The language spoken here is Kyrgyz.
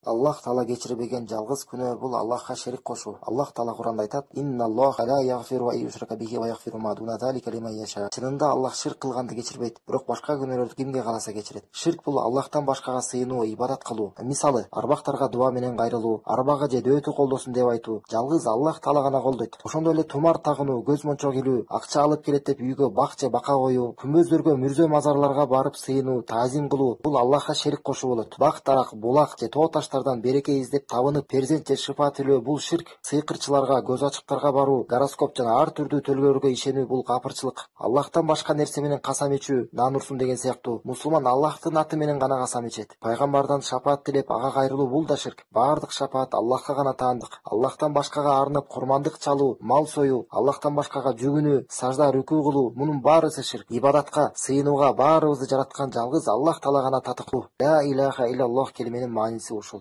Аллах Таала кечирбеген жалгыз күнөө бул Аллахка шерик кошуу. Аллах Таала Куранда айтат: "Инналлаха ла яғфиру ан юшрака бихи ва яғфиру ма дуна залика лиман яша". Чынында Аллах ширк кылганды кечирбейт, бирок башка күнөөлөрдү кимге кааласа кечирет. Ширк бул Аллахтан башкага сыйынуу, ибадат кылуу. Мисалы, арбактарга дуа менен кайрылуу, арбага же дөтү колдосун деп айтуу жалгыз Аллах Таала гана колдойт. Ошондой эле тумар тагынуу, көз мончок илүү, акча алып келет деп үйгө бак же бака коюу, күмбөздөргө, мүрзө мазарларга барып сыйынуу, таазим кылуу бул Аллахка шерик кошуу болот. Бак дарак, булак же тоо таштардан береке издеп табынып, перзент же шыфа тилөө бул ширк. Сыйкырчыларга, көз ачыктарга баруу, гороскоп жана ар түрдүү төлгөлөргө ишенүү бул капырчылык. Аллахтан башка нерсе менен касам ичүү, нан урсун деген сыяктуу. Мусулман Аллахтын аты менен гана касам ичет. Пайгамбардан шапаат тилеп, ага кайрылуу бул да ширк. Баардык шапаат Аллахка гана таандык. Аллахтан башкага арнап курмандык чалуу, мал союу, Аллахтан башкага жүгүнүү, сажда рүкүү кылуу мунун баарысы ширк. Ибадатка, сыйынууга баарыбызды жараткан жалгыз Аллах Таала гана татыктуу. Ла илаха иллаллах келименин мааниси ушул.